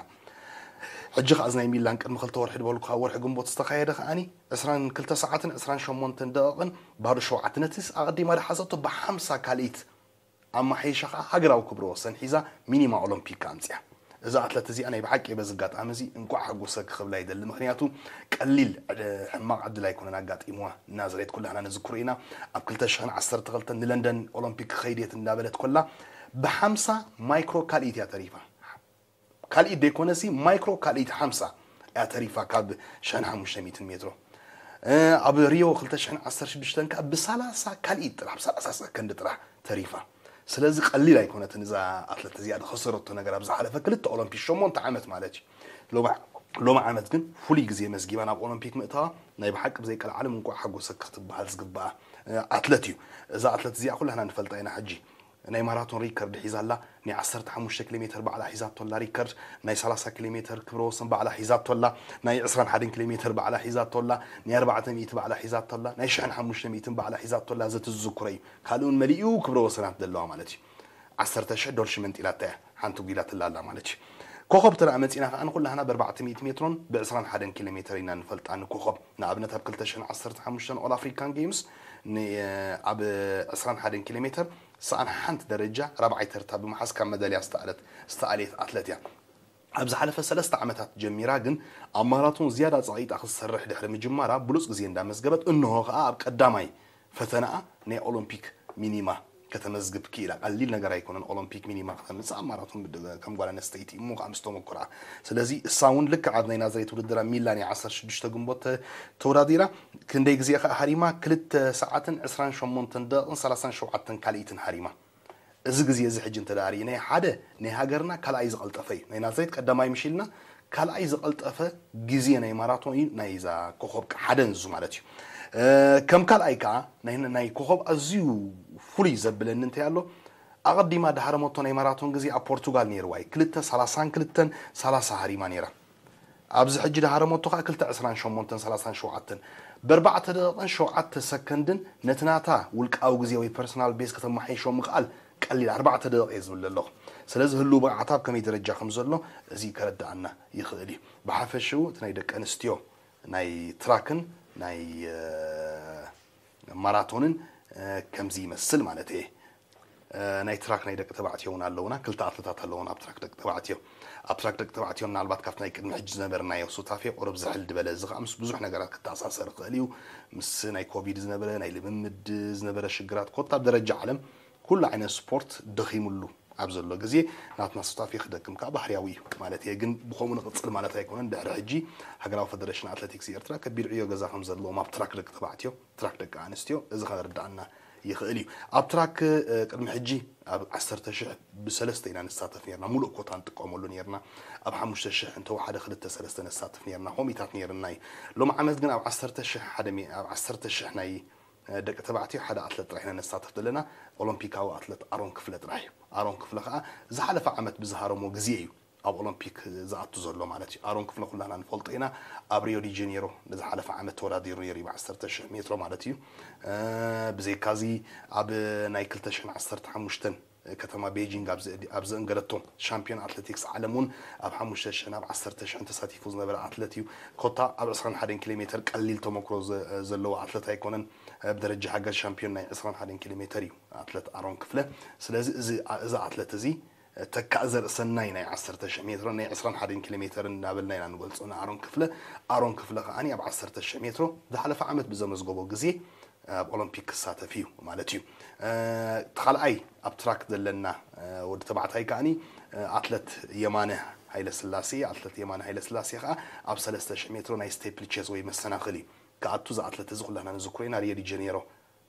ሕጂ ከኣ እዚ ናይ ሚላን ቅድሚ ክልተ ወርሒ ዝበልኩ ኣብ ወርሒ ግንቦት ዝተኻየደ ከኣኒ ዕስራን ክልተ ሰዓትን ዕስራን ሸሞንተን ደቂቕን ባዶ ሸውዓተ። ነቲስ ኣቐዲማ ድሓዘቶ ብሓምሳ ካልኢት ኣማሓይሻ ከኣ ሃገራዊ ክብረ ወሰን ሒዛ ሚኒማ ኦሎምፒክ ኣምጽያ። እዛ ኣትለት እዚኣ ናይ ብሓቂ በዚ ኣጋጣሚ እዚ እንቋዕ ሓጎሰኪ ክብላ ይደሊ። ምኽንያቱ ቀሊል ዕድ-፣ ሕማቕ ዕድል ኣይኮነን ኣጋጢምዋ። ናዝሬት ኩላህና ንዝክሮ ኢና። ኣብ ክልተ ሽሕን ዓሰርተ ክልተን ንለንደን ኦሎምፒክ ክኸይድ እየ እንዳበለት ኮላ፣ ብሓምሳ ማይክሮ ካልኢት እያ ተሪፋ። ካልኢት ደይኮነሲ ማይክሮ ካልኢት ሓምሳ እያ ተሪፋ ካብ ሽሕን ሓሙሽተ ሚእትን ሜትሮ። ኣብ ሪዮ ክልተ ሽሕን ዓሰርተ ሽዱሽተን ከዓ ብሰላሳ ካልኢት ጥራሕ ብሰላሳ ሰከንድ ጥራሕ ተሪፋ። ስለዚ ቀሊል ኣይኮነትን እዛ ኣትለት እዚኣ ዝኸሰረቶ ነገር ኣብ ዝሓለፈ ክልተ ኦሎምፒክ ሸሞንተ ዓመት ማለት እዩ። ሎሚ ዓመት ግን ፍሉይ ግዜ መዝጊባ ናብ ኦሎምፒክ ምእታዋ ናይ ብሓቂ ብዘይቀልዓለም እንቋዕ ሓጎሰኪ ክትበሃል ዝግበኣ ኣትለት እዩ። እዛ ኣትለት እዚኣ ኩላህና ንፈልጣ ኢና። ሕጂ ናይ ማራቶን ሪከርድ ሒዛ ኣላ። ናይ ዓሰርተ ሓሙሽተ ኪሎ ሜትር ባዕላ ሒዛቶ ኣላ ሪከርድ። ናይ ሰላሳ ኪሎ ሜትር ክብረ ወሰን ባዕላ ሒዛቶ ኣላ። ናይ ዕስራን ሓደን ኪሎ ሜትር ባዕላ ሒዛቶ ኣላ። ናይ ኣርባዕተ ሚእቲ ባዕላ ሒዛቶ ኣላ። ናይ ሽሕን ሓሙሽተ ሚእትን ባዕላ ሒዛቶ ኣላ። እዚ ትዝክሮ እዩ። ካልእ እውን መሊኡ ክብረ ወሰናት ዘለዋ ማለት እዩ። ዓሰርተ ሽሕ ዶልሽ መንጢላታ እያ። ሓንቲ ጒላ ትላላ ማለት እዩ። ኮኸብ ተረኣ መፂና ከዓ ንኩላህና ብ ኣርባዕተ ሚእቲ ሜትሮን ብ ዕስራን ሓደን ኪሎ ሜትር ኢና ንፈልጣ ንኮኸብ። ንኣብነት ኣብ ክልተ ሽሕን ዓሰርተ ሓሙሽተን ኦል ኣፍሪካን ጌምስ ኣብ ዕስራን ሓደን ኪሎ ሜትር ሰኣን ሓንቲ ደረጃ ራብዓይ ተርታ ብምሓዝ ካብ መዳልያ ዝተኣለት ዝተኣልየት ኣትለት እያ። ኣብ ዝሓለፈ ሰለስተ ዓመታት ጀሚራ ግን ኣብ ማራቶን ዝያዳ ጸቒጣ ክትሰርሕ ድሕሪ ምጅማራ ብሉጽ ግዜ እንዳመዝገበት እንሆ ከኣ ኣብ ቀዳማይ ፈተናኣ ናይ ኦሎምፒክ ሚኒማ ከተመዝግብ ክኢላ። ቀሊል ነገር ኣይኮነን ኦሎምፒክ ሚኒማ ከተምጽእ ኣብ ማራቶን ብድ- ከም ጓል ኣንስተይቲ እሞ ከኣ ምስ ተመኩራ። ስለዚ እሳ እውን ልክዕ ኣብ ናይ ናዝሬት ውድድር ኣብ ሚላን ዓሰርተ ሽዱሽተ ግንቦት ተ- ተወዳዲራ። ክንደይ ግዜ ከኣ ሃሪማ? ክልተ ሰዓትን ዕስራን ሸሞንተን ደቂቕን ሰላሳን ሸውዓተን ካልኢትን ሃሪማ። እዚ ግዜ እዚ ሕጂ እንተ ደኣ ርኢናዮ ሓደ ናይ ሃገርና ካልኣይ ዝቐልጠፈ እዩ። ናይ ናዝሬት ቀዳማይ ምሽ ኢልና ካልኣይ ዝቐልጠፈ ግዜ ናይ ማራቶን እዩ ናይ እዛ ኮኸብ ከ- ሓደ ንሱ ማለት እዩ። ከም ካልኣይ ከኣ ናይ ናይ ኮኸብ ኣዝዩ ፍሉይ ዘብለኒ እንታይ ኣሎ ኣቐዲማ ድሃረመቶ ናይ ማራቶን ግዜ ኣብ ፖርቱጋል ነይርዋ እዩ። ክልተ ሰላሳን ክልተን ሰላሳ ሃሪማ ነይራ። ኣብዚ ሕጂ ድሃረመቶ ከዓ ክልተ ዕስራን ሸሞንተን ሰላሳን ሸውዓተን ብኣርባዕተ ደቂቕን ሸውዓተ ሰከንድን ነቲ ናታ ውልቃዊ ግዜ ወይ ፐርሰናል ቤስ ከተመሓይሾ ምኽኣል ቀሊል ኣርባዕተ ደቂቕ እየ ዝብል ዘለኹ። ስለዚ ህልው ብቕዓታ ኣብ ከመይ ደረጃ ከም ዘሎ እዚ ከረድኣና ይኽእል እዩ። ብሓፈሽኡ እቲ ናይ ደቂ ኣንስትዮ ናይ ትራክን ናይ ማራቶንን ከምዚ ይመስል ማለት እየ። ናይ ትራክ ናይ ደቂ ተባዕትዮ እውን ኣለውና ክልተ ኣትለታት ኣለውና ኣብ ትራክ ደቂ ተባዕትዮ። ኣብ ትራክ ደቂ ተባዕትዮ ምናልባት ካብቲ ናይ ቅድሚ ሕጂ ዝነበርናዮ ሱታፌ ቁሩብ ዝሕል ዝበለ እዚ ከዓ ምስ ብዙሕ ነገራት ክተኣሳሰር ይኽእል እዩ። ምስ ናይ ኮቪድ ዝነበረ ናይ ልምምድ ዝነበረ ሽግራት ኮታ ኣብ ደረጃ ዓለም ኩሉ ዓይነት ስፖርት ደኺሙሉ ኣብ ዘሎ ግዜ ናትና ሱታፌ ክደክም ከዓ ባህርያዊ እዩ ማለት እየ። ግን ብኸምኡ ንቕፅል ማለት ኣይኮነን። ድሕሪ ሕጂ ሃገራዊ ፈደረሽን ኣትለቲክስ ኤርትራ ከቢድ ዕዮ ገዛ ከም ዘለዎም ኣብ ትራክ ደቂ ተባዕትዮ ትራክ ደቂ ኣንስትዮ እዚ ከረድኣና ይኽእል እዩ። ኣብ ትራክ ቅድሚ ሕጂ ኣብ ዓሰርተ ሽሕ ብሰለስተ ኢና ንሳተፍ ነርና። ሙሉእ ኮታ ንጥቀመሉ ነርና። ኣብ ሓሙሽተ ሽሕ እንተወሓደ ክልተ ሰለስተ ነሳትፍ ነርና። ኮሚታት ነርና እዩ። ሎም ዓመት ግን ኣብ ዓሰርተ ሽሕ ሓደ ኣብ ዓሰርተ ሽሕ ናይ ደቂ ተባዕትዮ ሓደ ኣትለት ጥራሕ ኢና ነሳተፍ ዘለና። ኦሎምፒካዊ ኣትለት ኣሮን ክፍለ ጥራሕ እዩ። ኣሮን ክፍለ ከዓ ዝሓለፈ ዓመት ብዝሃረሞ ግዜ እዩ ኣብ ኦሎምፒክ ዝኣቱ ዘሎ ማለት እዩ። ኣሮን ክፍለ ኩላና ንፈልጦ ኢና። ኣብ ሪዮ ዲ ጀኔሮ ንዝሓለፈ ዓመት ተወዳዲሩ ነይሩ እዩ ብ ዓሰርተ ሽሕ ሜትሮ ማለት እዩ። ብዘይካዚ ኣብ ናይ ክልተ ሽሕን ዓሰርተ ሓሙሽተን ከተማ ቤጂንግ ኣብ ዘእንገደቶ ሻምፒዮን ኣትሌቲክስ ዓለም እውን ኣብ ሓሙሽተ ሽሕን ኣብ ዓሰርተ ሽሕን ተሳቲፉ ዝነበረ ኣትለት እዩ። ኮታ ኣብ ዕስራን ሓደን ኪሎ ሜትር ቀሊል ተመክሮ ዘለዎ ኣትለት ኣይኮነን። ብደረጃ ሃገር ሻምፒዮን ናይ ዕስራን ሓደን ኪሎ ሜትር እዩ ኣትለት ኣሮን ክፍለ። ስለዚ እዚ ኣትለት እዚ ተካእ ዘርእሰናይ ናይ ዓሰርተ ሽሕ ሜትሮ ናይ ዕስራን ሓደን ኪሎ ሜትር እናበልና ኢና ንገልፆ ንኣሮን ክፍለ። ኣሮን ክፍለ ከዓኒ ኣብ ዓሰርተ ሽሕ ሜትሮ ዝሓለፈ ዓመት ብዘመዝገቦ ግዜ ኣብ ኦሎምፒክ ክሳተፍ እዩ ማለት እዩ። እቲ ካልኣይ ኣብ ትራክ ዘለና ወዲ ተባዕታይ ከዓኒ ኣትለት የማነ ሃይለስላሴ። ኣትለት የማነ ሃይለስላሴ ከዓ ኣብ ሰለስተ ሽሕ ሜትሮ ናይ ስቴፕል ቼዝ ወይ መሰናኽል እዩ ክኣቱ። እዚ ኣትለት እዚ ኩላና ንዝክሮ ኢና ሪዮ ዲ ጀኔሮ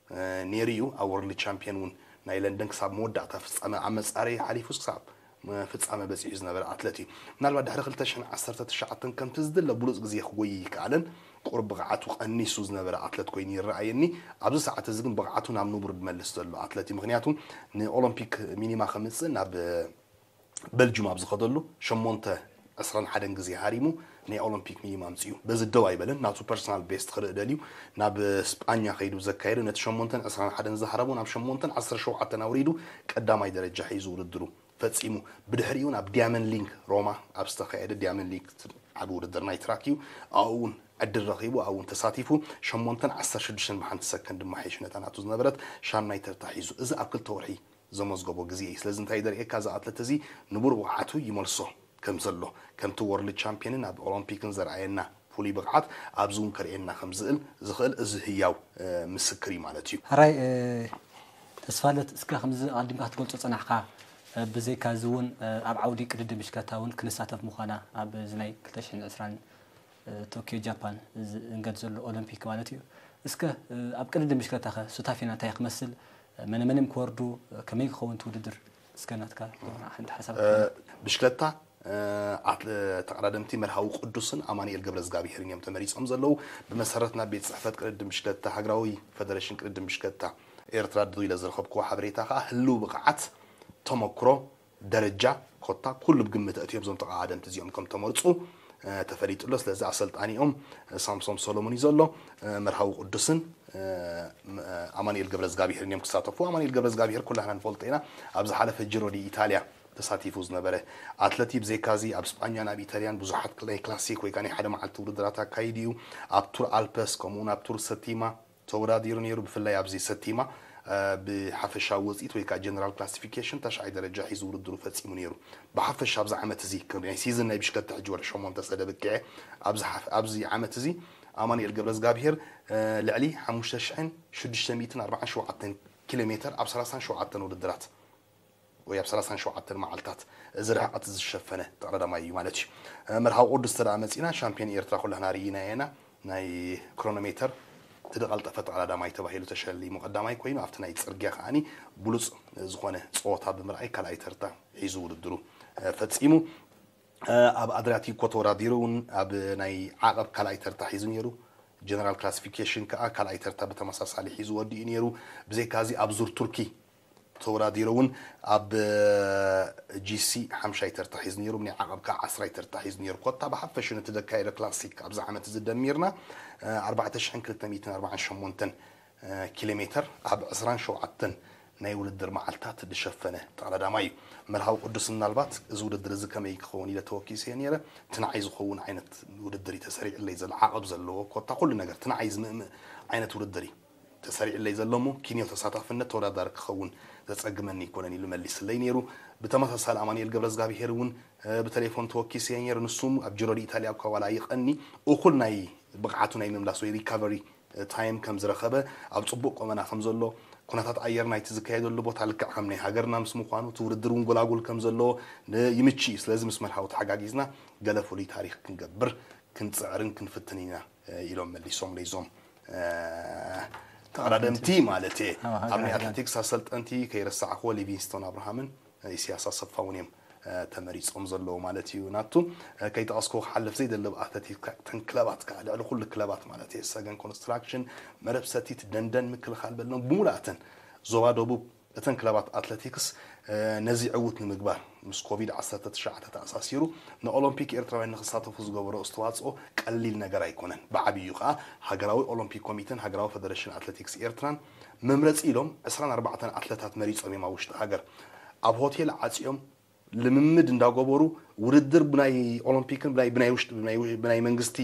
ነይሩ እዩ። ኣብ ወርልድ ቻምፒዮን እውን ናይ ለንደን ክሳብ መወዳእታ ፍፃመ ኣብ መፃረይ ሓሊፉስ ክሳብ ፍፃመ በፂሑ ዝነበረ ኣትለት እዩ። ምናልባት ድሕሪ ክልተ ሽሕን ዓሰርተ ትሽዓተን ከምቲ ዝድለ ብሉፅ ግዜ ክጎይ ይከኣለን ቁሩብ ብቕዓቱ ቀኒሱ ዝነበረ ኣትለት ኮይኑ ይረኣየኒ። ኣብዚ ሰዓት እዚ ግን ብቕዓቱ ናብ ንቡር ዝመልስ ዘሎ ኣትለት እዩ። ምክንያቱ ንኦሎምፒክ ሚኒማ ከምፅእ ናብ በልጁም ኣብ ዝኸደሉ ሸሞንተ ዕስራን ሓደን ግዜ ሃሪሙ ናይ ኦሎምፒክ ሚኒማ ኣምፅኡ። በዚ ደው ኣይበለን። ናቱ ፐርሰናል ቤስት ክርኢ ደልዩ ናብ ስጳኛ ከይዱ ዘካየዱ ነቲ ሸሞንተን ዕስራን ሓደን ዝሃረሞ ናብ ሸሞንተን ዓሰርተ ሸውዓተን ኣውሪዱ ቀዳማይ ደረጃ ሒዙ ውድድሩ ፈፂሙ። ብድሕሪኡ ናብ ዲያመን ሊንግ ሮማ ኣብ ዝተኻየደ ዲያመን ሊንግ ዓቢ ውድድር ናይ ትራክ እዩ። ኣብኡ እውን ዕድል ረኺቡ ኣብኡ እውን ተሳቲፉ ሸሞንተን ዓሰርተ ሽዱሽተን ብሓንቲ ሰከንድ ድማ ሓይሹ ነታ ናቱ ዝነበረት ሻምናይ ተርታ ሒዙ። እዚ ኣብ ክልተ ወርሒ ዘመዝገቦ ግዜ እዩ። ስለዚ እንታይ ደርእየካ እዚ ኣትለት እዚ ንቡር ብቕዓቱ ይመልሶ ከም ዘሎ ከምቲ ወርልድ ቻምፒዮንን ኣብ ኦሎምፒክን ዘርኣየና ፍሉይ ብቕዓት ኣብዚ እውን ከርእየና ከም ዝእል ዝኽእል እዚ ህያው ምስክር እዩ ማለት እዩ። ሕራይ ተስፋለት እስከ ከምዚ ኣቐዲምካ ክትገልጾ ጸናሕካ ብዘይካ እዚ እውን ኣብ ዓውዲ ቅድድም ብሽክለታ እውን ክንሳተፍ ምዃና ኣብ እዚ ናይ ክልተ ሽሕን ዕስራን ቶኪዮ ጃፓን ዝእንገድ ዘሎ ኦሎምፒክ ማለት እዩ። እስከ ኣብ ቅድድም ብሽክለታ ከ ሱታፌና እንታይ ክመስል፣ መነ መንም ክወርዱ፣ ከመይ ክኸውን እቲ ውድድር? እስከ ናትካ ሓንቲ ሓሳብ። ብሽክለታ ኣት- ተቐዳደምቲ መርሃዊ ቅዱስን ኣማኑኤል ገብረዝጋብሄርን እዮም ተመሪጾም ዘለዉ። ብመሰረት ናብ ቤት ጽሕፈት ቅድድም ብሽክለታ ሃገራዊ ፈደረሽን ቅድድም ብሽክለታ ኤርትራ ድሩ ኢለ ዝረኸብክዎ ሓበሬታ ከኣ ህልው ብቕዓት፣ ተመክሮ፣ ደረጃ ኮታ ኩሉ ብግምት ኣእትዮም እዞም ተቐዳደምቲ እዚኦም ከም ተመርጹ ተፈሊጡ ኣሎ። ስለዚ ኣሰልጣኒኦም ሳምሶም ሰሎሞን እዩ ዘሎ። መርሃዊ ቅዱስን ኣማኑኤል ገብረዝጋብሄርን እዮም ክሳተፉ። ኣማኑኤል ገብረዝጋብሄር ኩላህና ንፈልጦ ኢና። ኣብ ዝሓለፈ ጅሮ ዲ ኢታልያ ተሳቲፉ ዝነበረ ኣትለቲ። ብዘይካዚ ኣብ ስጳኛን ኣብ ኢታልያን ብዙሓት ናይ ክላሲክ ወይ ከዓ ናይ ሓደ መዓልቲ ውድድራት ኣካይዱ እዩ። ኣብ ቱር ኣልፐስ ከምኡውን ኣብ ቱር ሰቲማ ተወዳዲሩ ነይሩ። ብፍላይ ኣብዚ ሰቲማ ብሓፈሻዊ ውፅኢት ወይ ከዓ ጀነራል ክላሲፊኬሽን ተሽዓይ ደረጃ ሒዙ ውድድሩ ፈፂሙ ነይሩ። ብሓፈሻ ኣብዚ ዓመት እዚ ናይ ሲዝን ናይ ብሽክለታ ሕጂ ወርሒ ሸሞንተ ሰደብቅዐ ኣብዚ ዓመት እዚ ኣማኑኤል ገብረዝጋብሄር ልዕሊ ሓሙሽተ ሽሕን ሽዱሽተ ሚእትን ኣርባዓን ሸውዓተን ኪሎ ሜትር ኣብ ሰላሳን ሸውዓተን ውድድራት ወይ ኣብ ሰላሳን ሸውዓተን መዓልታት እዚ ርሕቐት ዝሸፈነ ተቐዳዳማይ እዩ ማለት እዩ። መርሃዊ ቅዱስ ተደኣ መፂና ሻምፒዮን ኤርትራ ኩላህና ርኢና ኢና። ናይ ክሮኖሜተር እቲ ዝቐልጠፈ ተቐዳዳማይ ተባሂሉ ተሸሊሙ ቀዳማይ ኮይኑ ኣብቲ ናይ ፅርግያ ከዓኒ ብሉፅ ዝኾነ ፀወታ ብምርኣይ ካልኣይ ተርታ ሒዙ ውድድሩ ፈፂሙ። ኣብ ኣድሪያቲኮ ተወዳዲሩ እውን ኣብ ናይ ዓቐብ ካልኣይ ተርታ ሒዙ ነይሩ። ጀነራል ክላሲፊኬሽን ከዓ ካልኣይ ተርታ ብተመሳሳሊ ሒዙ ወዲኡ ነይሩ። ብዘይካዚ ኣብ ዙር ቱርኪ ተወዳዲሩ እውን ኣብ ጂሲ ሓምሻይ ተርታ ሒዙ ነይሩ። ናይ ዓቐብ ከዓ ዓስራይ ተርታ ሒዙ ነይሩ። ኮታ ብሓፈሹ ነቲ ዘካየዶ ክላሲክ ኣብዚ ዓመት እዚ ደሚርና ኣርባዕተ ሽሕን ክልተ ሚእትን ኣርባዓን ሸሞንተን ኪሎ ሜተር ኣብ ዕስራን ሸውዓተን ናይ ውድድር መዓልታት ዝሸፈነ ተቐዳዳማይ እዩ። መርሃዊ ቅዱስ ምናልባት እዚ ውድድር እዚ ከመይ ክኸውን ኢለ ተወኪሰ ነይረ። ትንዓይ ዝኸውን ዓይነት ውድድር እዩ ተሰሪዕለይ ዘሎ፣ ዓቐብ ዘለዎ ኮታ ኩሉ ነገር ትንዓይ ዝምእምእ ዓይነት ውድድር እዩ ተሰሪዕለይ ዘሎ እሞ ኪንዮ ተሳታፍነት ተወዳዳሪ ክኸውን ዘጸግመኒ ኣይኮነን ኢሉ መሊስለይ ነይሩ። ብተመሳሳሊ ኣማኑኤል ገብረዝጋብሄር እውን ብቴሌፎን ተወኪሰ ነይሩ። ንሱም ኣብ ጅሮ ዲኢታልያ እኳ ዋላ ይቐኒ እኹል ናይ ብቕዓቱ ናይ ምምላስ ወይ ሪካቨሪ ታይም ከም ዝረኸበ፣ ኣብ ጽቡቕ ቁመና ከም ዘሎ፣ ኩነታት ኣየር ናይቲ ዝካየደሉ ቦታ ልክዕ ከም ናይ ሃገርና ምስ ምዃኑ፣ እቲ ውድድር እውን ጎላጉል ከም ዘለዎ ይምች እዩ። ስለዚ ምስ መርሃዊ ተሓጋጊዝና ገለ ፍሉይ ታሪኽ ክንገብር ክንጽዕርን ክንፍትን ኢና ኢሎም መሊሶም ለይዞም ተቐዳደምቲ ማለት እየ። ኣብ ናይ ኣትሌቲክስ ኣሰልጠንቲ ከይረሳዕክዎ ሊቪንግስቶን ኣብርሃምን ኢሳያስ ኣሰፋ እውን እዮም ተመሪጾም ዘለዉ ማለት እዩ። ናቱ ከይጠቐስኩ ክሓልፍ ዘይደሊ ኣትሌቲክስ እተን ክለባት ከዓ ልዕሊ ኩሉ ክለባት ማለት እየ ሰገን ኮንስትራክሽን፣ መረብ ሰቲት፣ ደንደን፣ ምክልኻል በልኖም ብምሉኣተን ዞባ ደቡብ እተን ክለባት ኣትሌቲክስ ነዚ ዕዉት ንምግባር ምስ ኮቪድ ዓሰርተ ትሽዓተ ተኣሳሲሩ ንኦሎምፒክ ኤርትራውያን ንክሳተፉ ዝገበሮ ኣስተዋፅኦ ቀሊል ነገር ኣይኮነን። ብዓብዩ ከዓ ሃገራዊ ኦሎምፒክ ኮሚተን ሃገራዊ ፈደረሽን ኣትሌቲክስ ኤርትራን መምረፂ ኢሎም ዕስራን ኣርባዕተን ኣትለታት መሪፆም እዮም ኣብ ውሽጢ ሃገር ኣብ ሆቴል ዓፂኦም ልምምድ እንዳገበሩ ውድድር ብናይ ኦሎምፒክን ብናይ ብናይ ውሽጢ ብናይ ብናይ መንግስቲ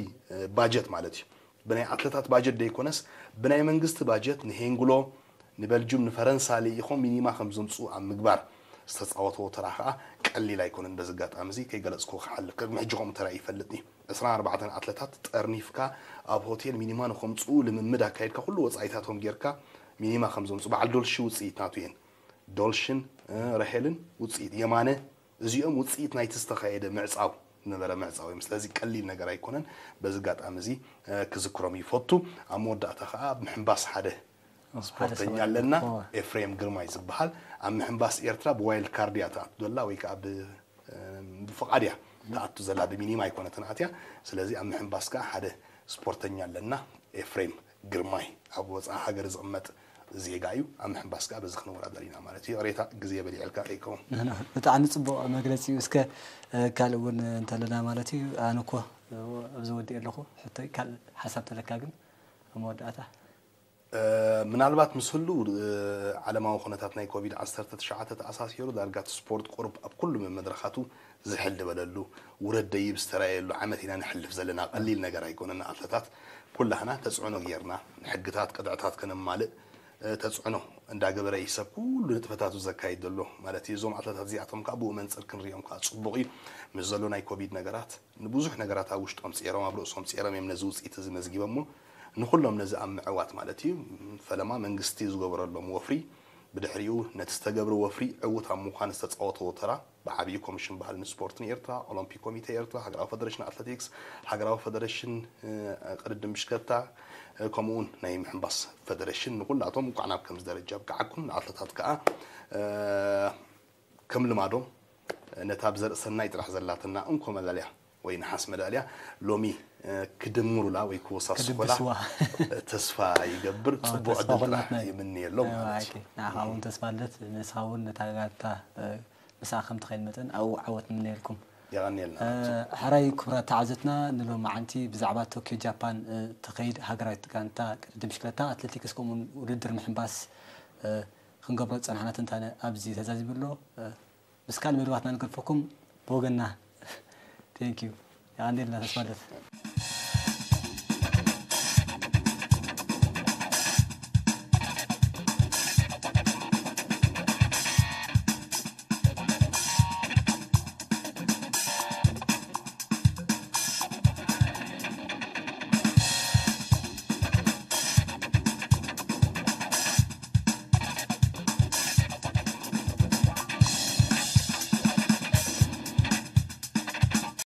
ባጀት ማለት እዩ። ብናይ ኣትለታት ባጀት ደይኮነስ ብናይ መንግስቲ ባጀት ንሄንግሎ ንበልጁም ንፈረንሳ ልኢኾም ሚኒማ ከም ዘምፅኡ ኣብ ምግባር ዝተፃወትዎ ተራ ከዓ ቀሊል ኣይኮነን። በዚ ኣጋጣሚ እዚ ከይገለፅኩ ክሓልፍ ቅድሚ ሕጂ ከምኡ ተራ ይፈልጥ እዩ። ዕስራን ኣርባዕተን ኣትለታት ጠርኒፍካ ኣብ ሆቴል ሚኒማ ንኸምፅኡ ልምምድ ኣካይድካ ኩሉ ወፃኢታቶም ጌርካ ሚኒማ ከም ዘምፅኡ በዓል ዶልሺ ውፅኢት ናቱ እየን። ዶልሽን ረሄልን ውፅኢት የማነ እዚኦም ውፅኢት ናይቲ ዝተኻየደ ምዕፃው ነበረ ምዕፃው እዮም። ስለዚ ቀሊል ነገር ኣይኮነን። በዚ ኣጋጣሚ እዚ ክዝክሮም ይፈቱ። ኣብ መወዳእታ ከዓ ኣብ ምሕንባስ ሓደ ስፖርተኛ ኣለና፣ ኤፍሬም ግርማይ ዝበሃል ኣብ ምሕንባስ ኤርትራ ብዋይልድ ካርድ እያ ትኣቱ ዘላ ወይ ከዓ ብፍቓድ እያ ትኣቱ ዘላ፣ ብሚኒማ ኣይኮነትን ኣትያ። ስለዚ ኣብ ምሕንባስ ከዓ ሓደ ስፖርተኛ ኣለና ኤፍሬም ግርማይ ኣብ ወፃኢ ሃገር ዝቕመጥ ዜጋ እዩ። ኣብ ምሕንባስ ከዓ በዚ ክንወዳደር ኢና ማለት እዩ። ይቕሬታ ግዜ በሊዐልካ ከይከውን። ብጣዕሚ ፅቡቕ መግለፂ እዩ። እስከ ካልእ እውን እንተለና ማለት እዩ። ኣነ እኮ ኣብዚ ወዲእ ኣለኹ። ሕቶይ ካልእ ሓሳብ ተለካ ግን ኣብ መወዳእታ ምናልባት ምስ ህሉ ዓለማዊ ኩነታት ናይ ኮቪድ ዓሰርተ ትሽዓተ ተኣሳሲሩ ዳርጋ እቲ ስፖርት ቁሩብ ኣብ ኩሉ መድረኻቱ ዝሕል ዝበለሉ ውረድ ደይብ ዝተራየሉ ዓመት ኢና ንሕልፍ ዘለና። ቀሊል ነገር ኣይኮነን። ንኣትለታት ኩላህና ተፅዕኖ ጌርና ንሕግታት ቅጥዕታት ከነማልእ ተፅዕኖ እንዳገበረ እዩ ሰብ ኩሉ ንጥፈታቱ ዘካይድ ዘሎ ማለት እዩ። እዞም ኣትለታት እዚኣቶም ከዓ ብኡ መንፅር ክንሪኦም ከዓ ፅቡቕ እዩ። ምስ ዘሎ ናይ ኮቪድ ነገራት ንብዙሕ ነገራት ኣብ ውሽጦም ፅዒሮም ኣብ ርእሶም ፅዒሮም እዮም ነዚ ውፅኢት እዚ መዝጊቦሞ ንኩሎም ነዚ ኣብ ምዕዋት ማለት እዩ። ፈለማ መንግስቲ ዝገበረሎም ወፍሪ ብድሕሪኡ ነቲ ዝተገብረ ወፍሪ ዕዉት ኣብ ምዃን ዝተፃወተዎ ተራ ብዓብዪ ኮሚሽን ባህልን ስፖርትን ኤርትራ፣ ኦሎምፒክ ኮሚቴ ኤርትራ፣ ሃገራዊ ፈደረሽን ኣትሌቲክስ፣ ሃገራዊ ፈደረሽን ቅድድም ብሽክለታ፣ ከምኡውን ናይ ምሕንባስ ፈደረሽን ንኩላቶም እንኳዕ ናብ ከምዚ ደረጃ ኣብቅዓኩም። ንኣትለታት ከዓ ከም ልማዶም ነታ ብዘርኢ ሰናይ ጥራሕ ዘላትና እንኮ መዳልያ ወይ ነሓስ መዳልያ ሎሚ ክድምሩላ ወይ ክወሳስኹላ ተስፋ ይገብር። ፅቡቅ ዕድል ጥራሕ ይምንየሎም ማለት እዩ። ንዓኻ እውን ተስፋ ኣለት፣ ንስኻ እውን ነታ ጋንታ ምስኣ ከም ትኸይድ መጠን ኣብኡ ዓወት ንምነየልኩም። የቐንየልና። ሕራይ ክቡራት ተዓዘትና፣ ንሎሚ ዓንቲ ብዛዕባ ቶኪዮ ጃፓን ትኸይድ ሃገራዊት ጋንታ ቅድድም ብሽክለታ፣ ኣትሌቲክስ ከምኡውን ውድድር ምሕንባስ ክንገብሮ ዝጸናሕና ትንታነ ኣብዚ ተዛዚሙ ኣሎ። ምስ ካልእ መደባትና ንገድፈኩም። ብወገንና thank you። የቐንየልና ተስፋ ኣለት።